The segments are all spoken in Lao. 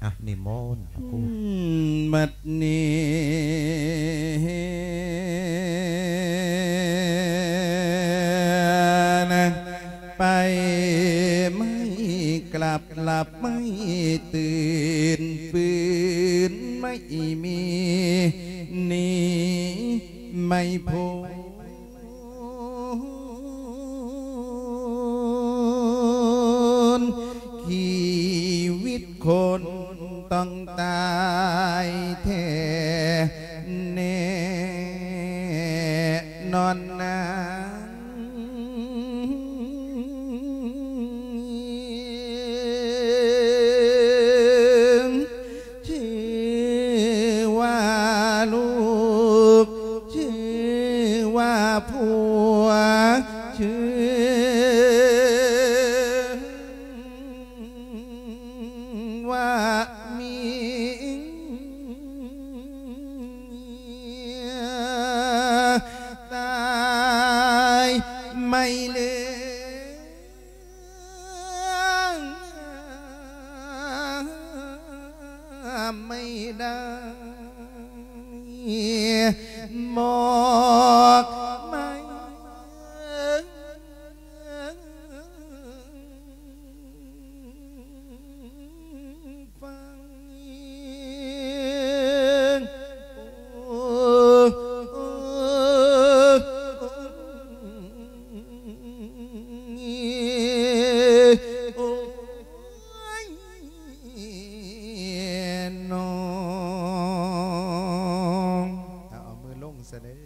ອ່ະ ນິມົນພະຄູ ອືມ ບັດນີ້ນະ ໄປໄມ້ກລັບ ຫຼັບໄມ້ຕື່ນ ຟື້ນໄມ້ມີ ໜີໄມ້ໂພ ນ ຊີວິດຄົນຕ້ອງຕາຍແທ້ແນ່ນອນນາງ ຊື່ວ່າລູກ ຊື່ວ່າຜົວ ຊື່ວ່າເມຍ ຕາຍໄມ້ເຫຼືອງ ໄມ້ດາ ໝອກໄມ້ ຟັງ ໂອ້ ໂອ້ ໂອ້ຍ ນ້ອງ ເອົາ ເອົາມືລົງຊະເດີ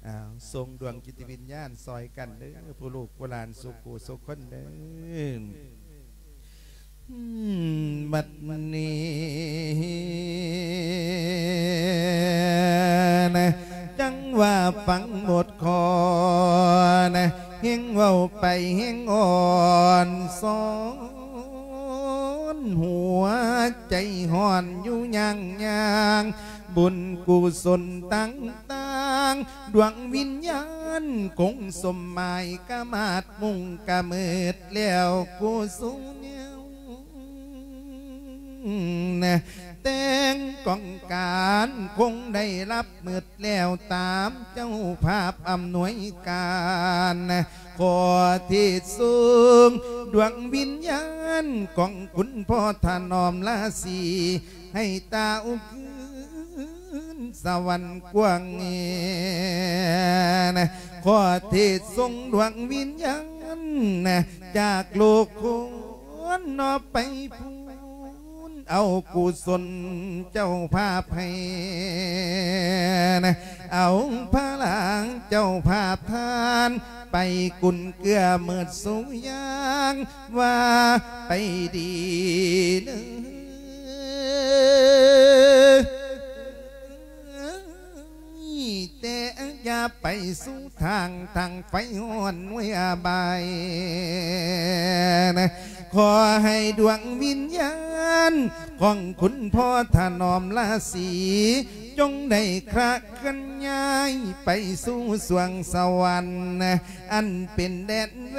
ອ່າ ສົ່ງດວງຈິດວິນຍານຊ່ອຍກັນເດີ ຜູ້ລູກຜູ້ຫຼານສູ່ຄູ່ສູ່ຄົນເດີ ອືມ ບັດນີ້ນະ ຈັ່ງວ່າຟັງບົດຂໍນະ ແຮ່ງເວົ້າໄປແຮ່ງອ່ອນຊອນ ຫົວໃຈຮ້ອນຢູ່ຍ່າງໆ ບຸນກຸສົນຕ່າງໆ ດວງວິນຍານຄົງສົມໝາຍ ກະມາດມຸງກະມືດແລ້ວກູສູ່ແນວ ແຕ່ງກອງການຄົງໄດ້ລັບມືດແລ້ວ ຕາມເຈົ້າພາບອຳນວຍການ ຂໍເທດສົ່ງດວງວິນຍານຂອງຄຸນພໍ່ຖະໜອມລາສີ ໃຫ້ຕາອຸຄືນສະຫວັນກວ້າງແອນ ຂໍເທດສົ່ງດວງວິນຍານ ຈາກໂລກຄົນເນາະໄປພູນ ເອົາກຸສົນເຈົ້າພາບໃຫ້ ເອົາພະລາງເຈົ້າພາບທານ ໄປກຸນເກື້ອເມີດສູ່ຢ່າງ ວ່າໄປດີເນີ ແຕ່ຢ່າໄປສູ່ທາງ ທາງໄຟຮ້ອນເວຍບາຍ ຂໍໃຫ້ດວງວິນຍານຂອງຄຸນພໍ່ຖະໜອມລາສີ ຈົ່ງໄດ້ຄລະເຄື່ອນຍ້າຍໄປສູ່ສວງສະຫວັນ ອັນເປັນແດນແວ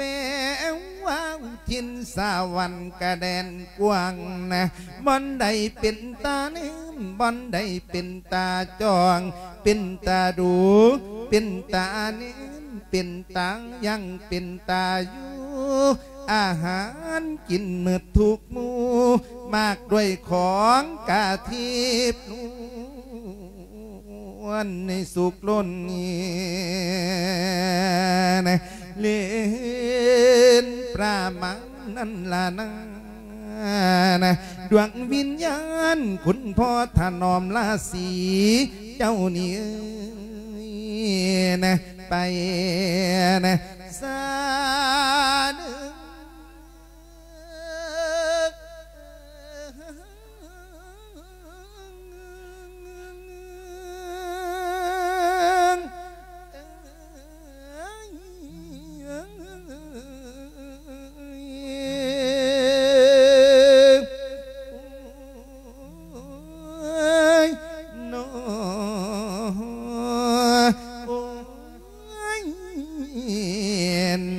ວວາວ ຖິ່ນສະຫວັນກະແດນກວ້າງນະ ບ່ອນໃດເປັນຕາແນມ ບ່ອນໃດເປັນຕາຈ້ອງ ເປັນຕາດູ ເປັນຕາແນມ ເປັນຕາຍັງ ເປັນຕາຢູ່ ອາຫານກິນໝົດທຸກໝູ່ ມາກດ້ວຍຂອງກະທິບນວນໃນສຸກລົ້ນ ເຫຼັນປຣາມານນັ້ນລະນາ ດວງວິນຍານຄຸນພໍ່ຖະໜອມລາສີ ເຈົ້ານີ້ເອີຍ ໄປສາເດີ.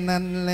ນັ້ນແຫຼະ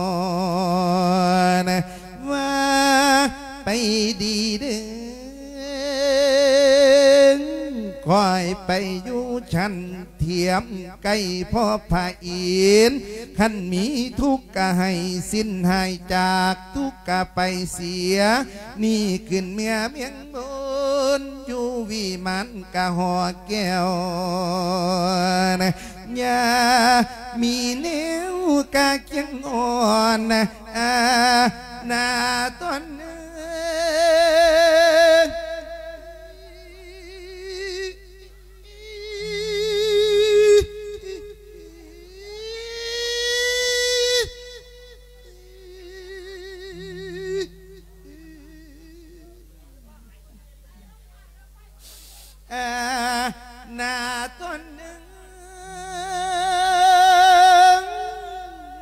ນ ວ່າໄປດີເດີ ຂ້ອຍໄປຢູ່ຊັ້ນ ທຽມໃກ້ພໍ່ພະອິນ ຄັນມີທຸກກະໃຫ້ສິ້ນຫາຍຈາກທຸກກະໄປເສຍ ນີ້ຂຶ້ນເມືອເມືອງບົນ ຢູ່ວິມານກະຫໍແກ້ວນະ ຢ່າມີແນວກະຄຽງອ່ອນນະ ອາ ນາຕອນເອີຍ. ອາ ນາຕອນໜຶ່ງ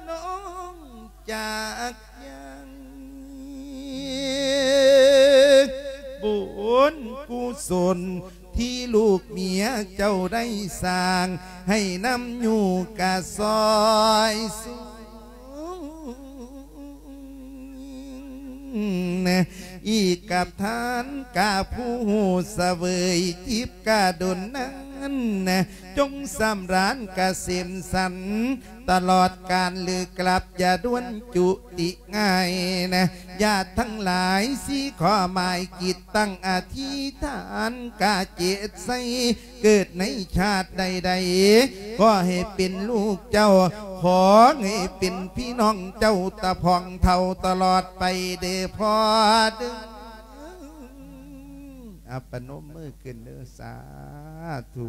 ນ້ອງຈັກຍັງ ບຸນກຸສົນ ທີ່ລູກເມຍເຈົ້າໄດ້ສ້າງ ໃຫ້ນຳຢູ່ກະຊອຍສູງ ອີກກັບທ່ານກະຜູ້ຮູ້ສະເຫວີຍຈິບກະດົນນັ້ນ ຈົ່ງສຳລານກະເສມສັນ ຕະຫຼອດການຫຼືກລັບ ຢ່າດ່ວນຈຸຕິງ່າຍນະ ຍາດທັງຫຼາຍ ສີ່ຂໍ້ໝາຍຈິດຕັ້ງອະທິຖານ ກະເຈດໃສ່ ເກີດໃນຊາດໃດໆ ຂໍໃຫ້ເປັນລູກເຈົ້າ ຂໍໃຫ້ເປັນພີ່ນ້ອງເຈົ້າ ຕະພອງເຖົ້າຕະຫຼອດໄປເດີພໍ່ເດີ. ອາ ປະນົມມືຂຶ້ນເດີ ສາທຸ.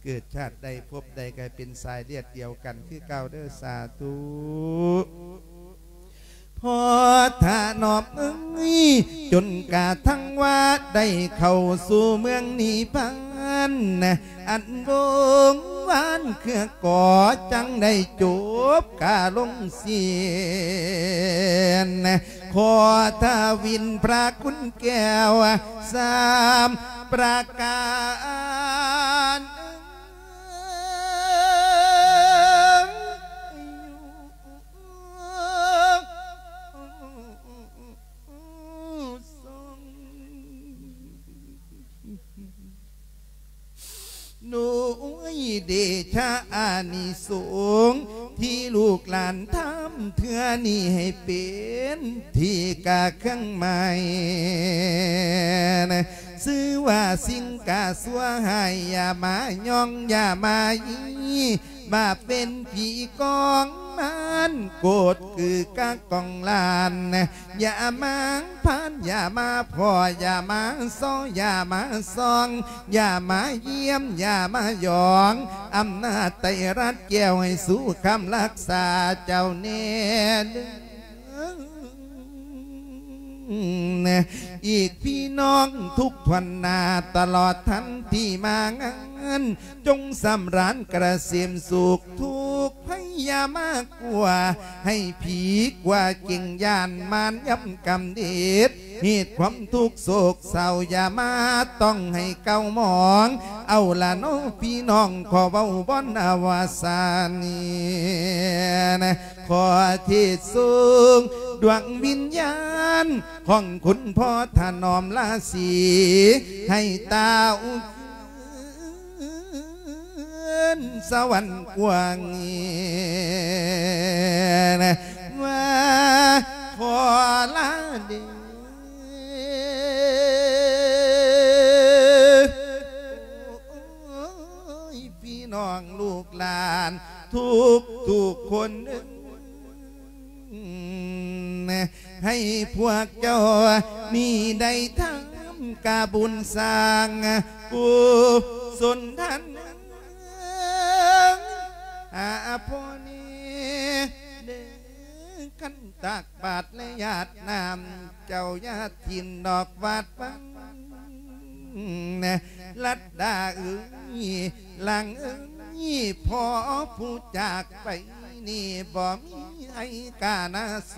ເກີດຊາດໃດພົບໃດ ກະໃຫ້ເປັນສາຍເລືອດດຽວກັນຄືເກົ່າເດີ ສາທຸ. ພໍຖະໜອບເອີຍ ຈົນກະທັ່ງວ່າໄດ້ເຂົ້າສູ່ເມືອງນິບພານ ອັນວົງວານເຄືອກໍຈັ່ງໄດ້ຈົບກະລົງສິ້ນ ຂໍທະວິນພະຄຸນແກ້ວສາມປະການ. ເດຊະອານິສົງທີ່ລູກຫຼານທຳເທື່ອນີ້ ໃຫ້ເປັນທີ່ກະເຄື່ອງໝາຍ ຊື່ວ່າສິ່ງກະຊົ່ວຮ້າຍ ຢ່າມາຍ້ອງ ຢ່າມາຢີ ບາບເປັນຜີກອງມານ ໂກດຄືກະກອງລ້ານ ຢ່າມາຜ່ານ ຢ່າມາພໍ້ ຢ່າມາຊໍ ຢ່າມາສ່ອງ ຢ່າມາຢ້ຽມ ຢ່າມາຢອງ ອຳນາດໄຕລັດແກ້ວ ໃຫ້ສູ່ຄຳລັກສາເຈົ້າແນ່ເດີ ອີກພີ່ນ້ອງທຸກຖ້ວນໜ້າ ຕະຫຼອດທັນທີ່ມາງານ ຈົ່ງສຳລານກະເສມສຸກ ທຸກໄພຢ່າມາກົວ ໃຫ້ຜີກົວເກັ່ງຢ້ານ ມານຢຳກຳເດດ ເຫດຄວາມທຸກໂສກເສົ້າ ຢ່າມາຕ້ອງໃຫ້ເກົ້າໝອງ ເອົາລະເນາະພີ່ນ້ອງ ຂໍເວົ້າບ່ອນອະວະສານນີ້ ຂໍເທດສົ່ງດວງວິນຍານ ຂອງຄຸນພໍ່ຖະໜອມລາສີ ໃຫ້ຕາອຸ ເອີນສະຫວັນກວ້າງ ວ່າຂໍລາເດີ ໂອ້ຍ ພີ່ນ້ອງລູກຫຼານທຸກໆຄົນເອີຍ ໃຫ້ພວກເຈົ້ານີ້ໄດ້ທຳກະບຸນສ້າງກຸສົນທານ ຫາພໍ່ນີ້ເດີ ຄັນຕັກບາດ ແລະ ຢາດນ້ຳ ເຈົ້າຢ່າຖິ້ມດອກວາດວັງ ລັດດາເອີຍ ຫຼັງເອີຍ ພໍ່ຜູ້ຈາກໄປນີ້ ບໍ່ມີໃຫ້ການະສ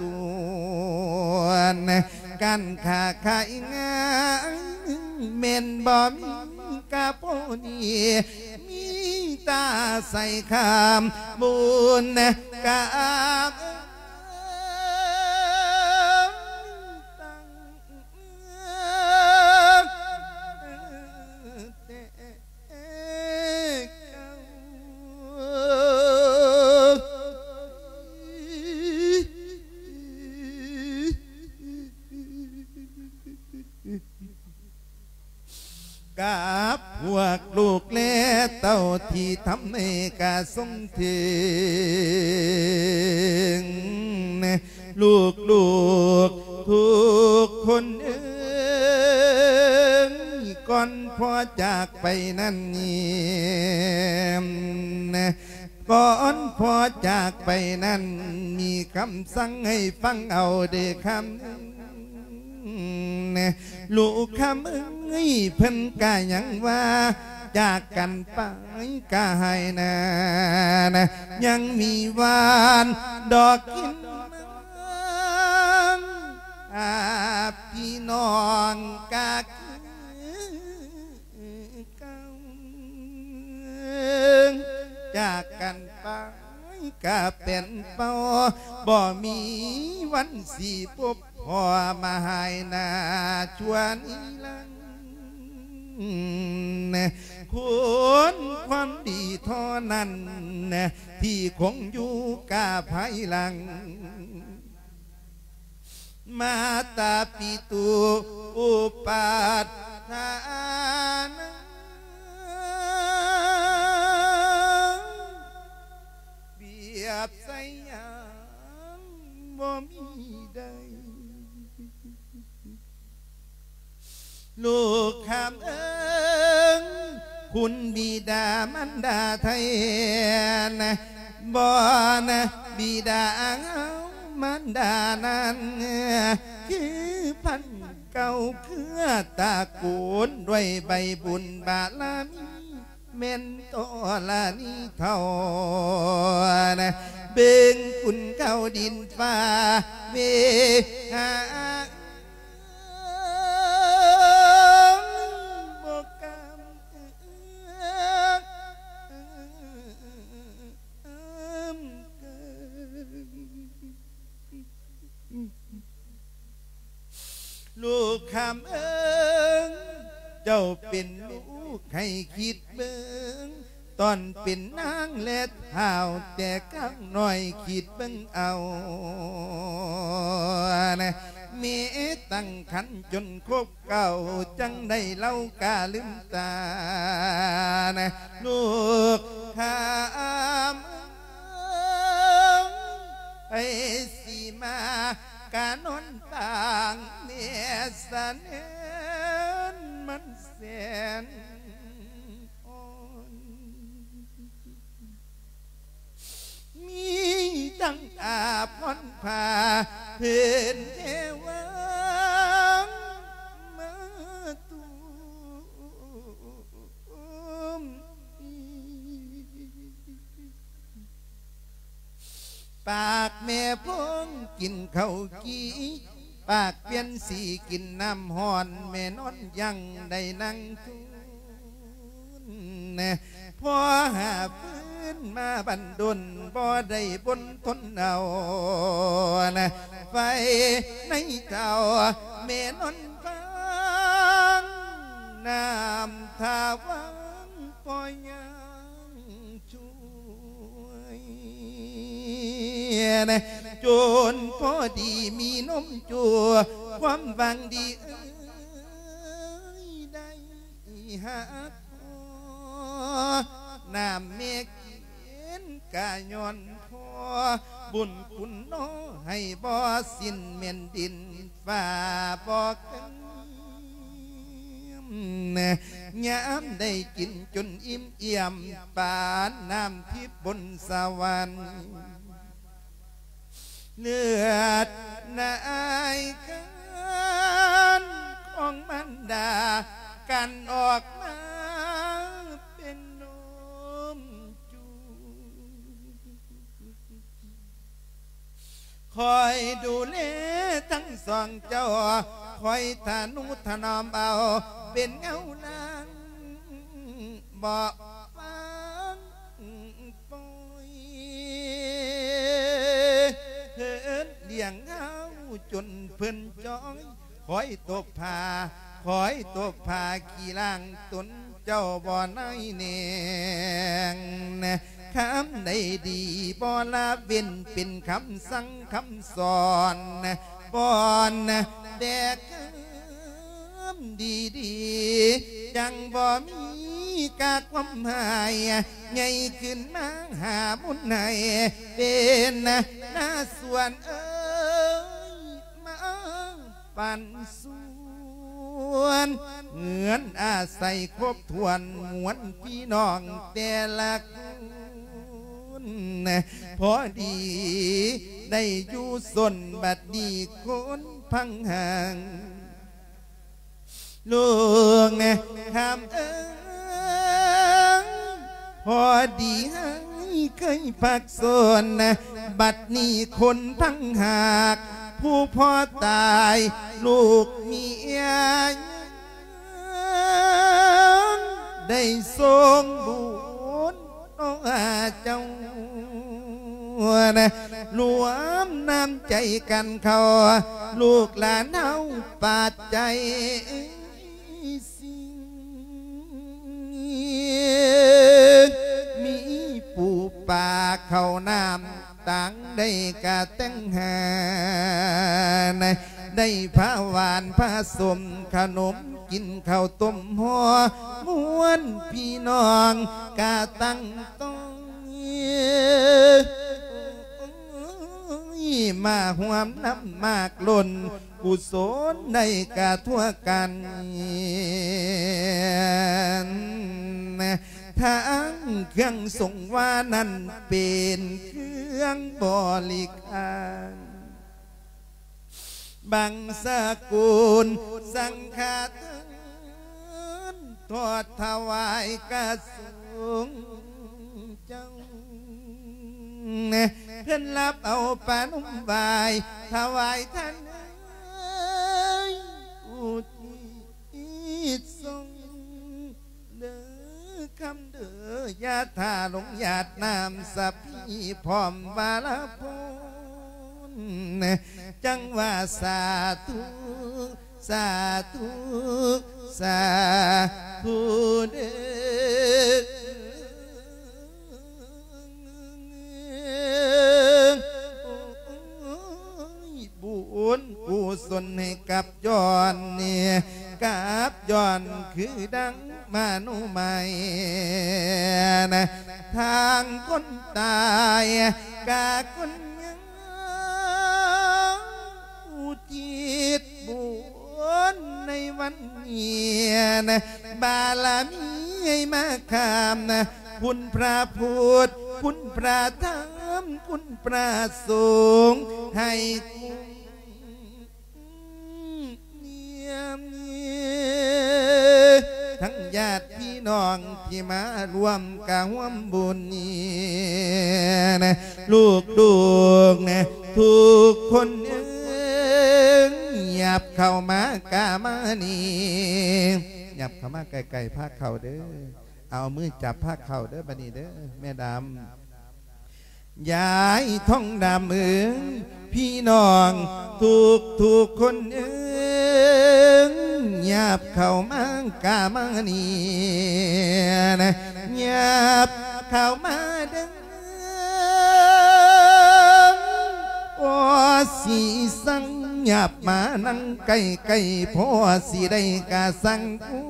ວນ ການຄ້າຂາຍງານ ແມ່ນບໍ່ມີກະພໍດີ ມີແຕ່ໃສ່ຄຳບຸນກະ ກັບພວກລູກແລເຕົ້າທີ່ທຳໃຫ້ກະສົມເຖິງ ລູກໆທຸກຄົນເອີຍ ກ່ອນພໍ່ຈາກໄປນັ້ນ ກ່ອນພໍ່ຈາກໄປນັ້ນ ມີຄຳສັ່ງໃຫ້ຟັງເອົາເດີຄຳ ລູກຄຳເອີຍ ເພິ່ນກະຍັງວ່າ ຈາກກັນໄປກະໃຫ້ນານ ຍັງມີຫວານດອກກິນ ອາ ພີ່ນ້ອງກະຄື ຈາກກັນໄປກະເປັນເປົ່າ ບໍ່ມີວັນຊິພົບພໍ້ມາຫາຍໜ້າຊົ່ວນິລັນດ໌ ຄົນຄວາມດີທໍ່ນັ້ນ ທີ່ຄົງຢູ່ກາພາຍຫຼັງ ມາຕາປິຕຸອຸປາທານ ປຽບໃສ່ຫຍັງບໍ່ມີໃດ ລູກຄຳເອີຍ ຄຸນບິດາມານດາແທ້ນະ ບໍ່ນະ ບິດາເຮົາມານດານັ້ນ ຄືພັນເກົ້າເຄືອຕະໂກນ ດ້ວຍໃບບຸນບາລະມີ ແມ່ນທໍລະນີເທົ່ານະ ເບິ່ງຄຸນເຂົາດິນຟ້າເວຫາ ບໍ່ກຳເອື້ອມເກີນ ລູກຄຳເອີຍ ເຈົ້າເປັນລູກໃຫ້ຄິດເບິ່ງ ຕອນເປັນນາງແລະທ້າວແຕ່ກາງນ້ອຍ ຄິດເບິ່ງເອົານະ ແມ່ຕັ້ງຄັນຈົນຄົບເກົ້າ ຈັ່ງໄດ້ເລົ່າກາລືມຕານະ ລູກຂ້າເອີຍ ໃຜຊິມາກະນອນປາງແມ່ສະເໜີນ ມັນແສນອ່ອນ ມີທັງອາພອນຜ້າ ເພິ່ນແຕ່ວາງມາຕຸ້ມ ປາກແມ່ພົງກິນເຂົ້າກີ່ ປາກປ່ຽນສີກິນນ້ຳຮ້ອນ ແມ່ນອນຍັງໄດ້ນັ່ງທຸນ ພໍຫາບຟືນມາບັນດົນ ບໍ່ໄດ້ບົນທົນເອົາ ໄຟໃນເຕົ້າ ແມ່ນອນຟັງ ນ້ຳທ່າວັງ ພໍຍັງ ຊ່ວຍ ຈົນພໍດີມີນົມຈູ່ວ ຄວາມຫວັງດີເອີຍ ໄດ້ຮັກພໍ ນ້ຳແມ່ກິນກະຍ້ອນພໍ ບຸນຄຸນໜໍໃຫ້ບໍ່ສິ້ນ ແມ່ນດິນຟ້າບໍ່ເຄີຍ ຍາມໄດ້ກິນຈົນອີ່ມອຽມ ປານນ້ຳທິບບົນສະຫວັນ ເລືອດນາຍການຂອງມານດາ ກັ່ນອອກມາເປັນນົມຈູ່ ຄອຍດູແລທັງສອງເຈົ້າ ຄອຍທະນຸຖະໜອມເອົາ ເປັນເງົາຫຼັງບໍ່ຟັງປ່ອຍ ເພິ່ນລ້ຽງເຮົາຈົນເພິ່ນຈ່ອຍ ຄອຍຕົບຜ້າ ຄອຍຕົບຜ້າຂີ້ລ້າງຕົນ ເຈົ້າບໍ່ໄດ້ແນງ ຄຳໃດດີບໍ່ລະເວັ້ນ ເປັນຄຳສັ່ງຄຳສອນ ປ້ອນແຕ່ຄຳດີໆ ຈັ່ງບໍ່ມີກາຄວາມຮ້າຍ ໃຫຍ່ຂຶ້ນມາຫາບຸນໃຫ້ ເປັນນາສວນເອີຍ ມາປັນສວນ ເຮືອນອາໄສຄົບຖ້ວນ ມວນພີ່ນ້ອງແຕ່ລະຄົນ ພໍດີໄດ້ຢູ່ສົນ ບັດນີ້ຄົນພັງຫາງ ລູກຄຳເອີຍ ພໍດີໃຫ້ເຄີຍພັກສົນ ບັດນີ້ຄົນພັງຫາກ ຜູ້ພໍ່ຕາຍລູກເມຍ ໄດ້ສົ່ງບຸນຕໍ່ເຈົ້າ ລວມນ້ຳໃຈກັນເຂົ້າ ລູກຫຼານເຮົາປາດໃຈສິ່ງ ມີປູປາເຂົ້ານ້ຳ ຕ່າງໄດ້ກະແຕ່ງຫານ ໄດ້ພາຫວານພາສົມ ຂະໜົມກິນເຂົ້າຕົ້ມຫໍ່ ມວນພີ່ນ້ອງກະຕັ້ງຕ້ອງ ມາຮ່ວມນຳມາກລົ້ນ ກຸສົນໄດ້ກະທົ່ວກັນ ທັງເຄື່ອງສົງວານັ້ນ ເປັນເຄື່ອງບໍລິການ ບັງສະກຸນສັງຄະທານ ທອດຖວາຍກະສົງເຈົ້າ ເພິ່ນຮັບເອົາປະນົມໄຫວ້ ຖວາຍທ່ານເອີຍ ອຸທິດສົ່ງ ເດີຄຳເດີ ຢ່າຖ້າລົງຫຍາດນ້ຳສະພີ ພ້ອມວາລະພົນ ຈັ່ງວ່າສາທຸ ສາທຸ ສາທຸເດີ. ສົນໃຫ້ກັບຍ້ອນນີ້ ກັບຍ້ອນຄືດັ່ງມະໂນໄມນະ ທາງຄົນຕາຍກະຄົນຍັງ ອຸທິດບຸນໃນວັນນີ້ນະ ບາລະມີໃຫ້ມາຂ້າມນະ ຄຸນພຣະພຸດ ຄຸນພຣະທຳ ຄຸນພຣະສົງ ໃຫ້ຄຸ້ມນຽມ ທັງຍາດພີ່ນ້ອງທີ່ມາຮ່ວມກະຮ່ວມບຸນນີ້ນະ ລູກໆນະ ທຸກຄົນເອີຍ ຫຍັບເຂົ້າມາກະມານີ້ ຫຍັບເຂົ້າມາໃກ້ໆພາເຂົ້າເດີ້ ເອົາມືຈັບພາເຂົ້າເດີ້ ບາດນີ້ເດີ້ ແມ່ດຳ ຍາຍທອງດຳເອີຍ ພີ່ນ້ອງທຸກໆຄົນເອີຍ ຫຍັບເຂົ້າມາກະມານີ້ນະ ຫຍັບເຂົ້າມາເດີ້ ພໍຊິສັງ ຫຍັບມານັ່ງໃກ້ໆ ພໍຊິໄດ້ກະສັງຄຸ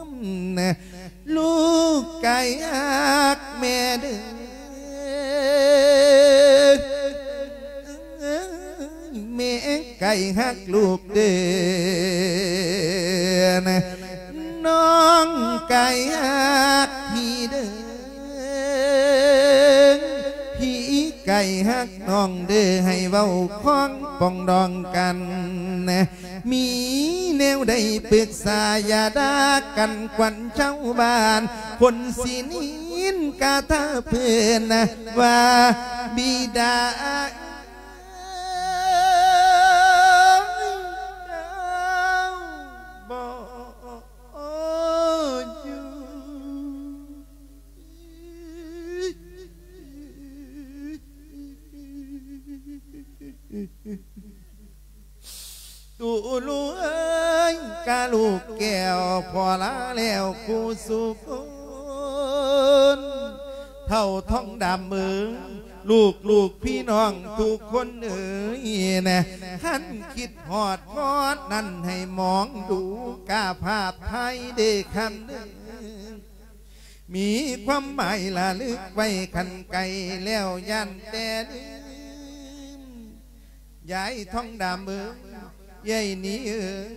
ມນະ ລູກໄກ່ຮັກແມ່ເດີ້ ແມ່ໄກ່ຮັກລູກເດີ້ ນ້ອງໄກ່ຮັກພີ່ເດີ້ ພີ່ໄກ່ຮັກນ້ອງເດີ້ ໃຫ້ເວົ້າຄອງປອງດອງກັນ ມີແນວໃດປຶກສາຢ່າດ່າກັນ ຂວັນຊາວບ້ານຄົນຊິນິນກະຖ້າເພິ່ນວ່າບິດາບໍ່ຢູ່. ຕູລູກເອີຍ ກະລູກແກ້ວ ພໍ່ລາແລ້ວຄູ່ສູ່ຄົນ ເຖົ້າທອງດຳເອີຍ ລູກໆພີ່ນ້ອງທຸກຄົນເອີຍນະ ຄັນຄິດຮອດພອດນັ້ນໃຫ້ມອງດູກາພາບໄທເດ້ຄຳເດີ ມີຄວາມໝາຍລະລຶກໄວ້ ຄັນໄກແລ້ວຢ້ານແຕ່ລືມ. ຍາຍທອງດຳເອີຍ ເອື້ອຍໜີເອີຍ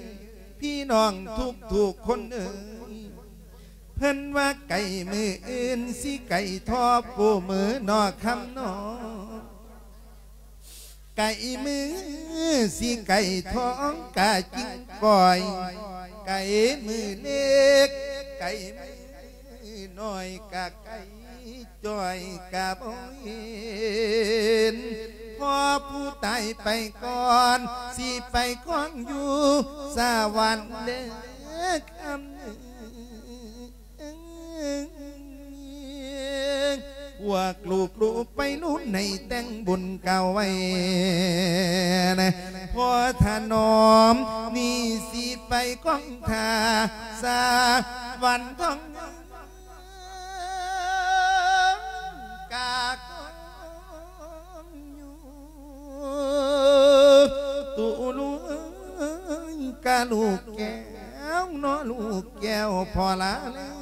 ພີ່ນ້ອງທຸກໆຄົນເອີຍ ເພິ່ນວ່າໄກມື້ອື່ນຊິໄກທໍ່ໂປມື້ນໍຄຳນໍ ໄກມື້ຊິໄກທ້ອງກະຈິງກ່ອຍ ໄກມື້ເລັກ ໄກມື້ນ້ອຍກະໄກຈ່ອຍກະບໍ່ເຫັນ ພໍຜູ້ຕາຍໄປກ່ອນ ຊິໄປຄອງຢູ່ສະຫວັນເດີຄຳເອີຍ. ພວກລູກໆໄປລຸ້ນໃຫ້ແຕ່ງບຸນເກົ່າໄວ້ນະ ພໍ່ຖະໜອມນີ້ຊິໄປກອງທ່າສາວັນທອງ ກາກອງຢູ່ ຕູລູກເອີຍ ກະລູກແກ້ວເນາະ ລູກແກ້ວ ພໍ່ລາແລ້ວ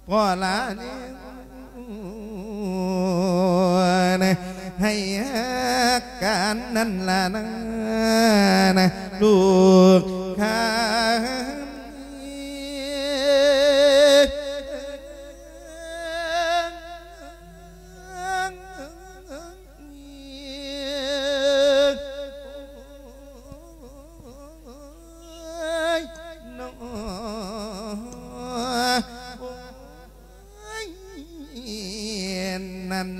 ພໍ່ລາແລ້ວ ໃຫ້ຮັກກັນນັ້ນລະນາ ລູກຂ້າ. ນັ້ນ